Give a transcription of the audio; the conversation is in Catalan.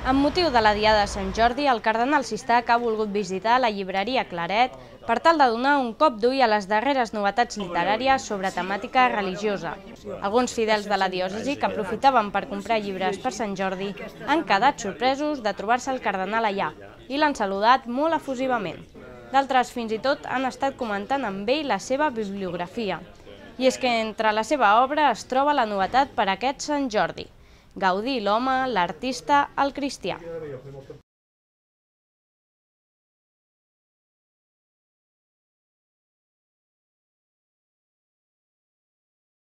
Amb motiu de la Diada de Sant Jordi, el cardenal Sistac ha volgut visitar la llibreria Claret per tal de donar un cop d'ull a les darreres novetats literàries sobre temàtica religiosa. Alguns fidels de la diòcesi que aprofitaven per comprar llibres per Sant Jordi han quedat sorpresos de trobar-se el cardenal allà i l'han saludat molt efusivament. D'altres fins i tot han estat comentant amb ell la seva bibliografia. I és que entre la seva obra es troba la novetat per aquest Sant Jordi: Gaudí l'home, l'artista, el cristià.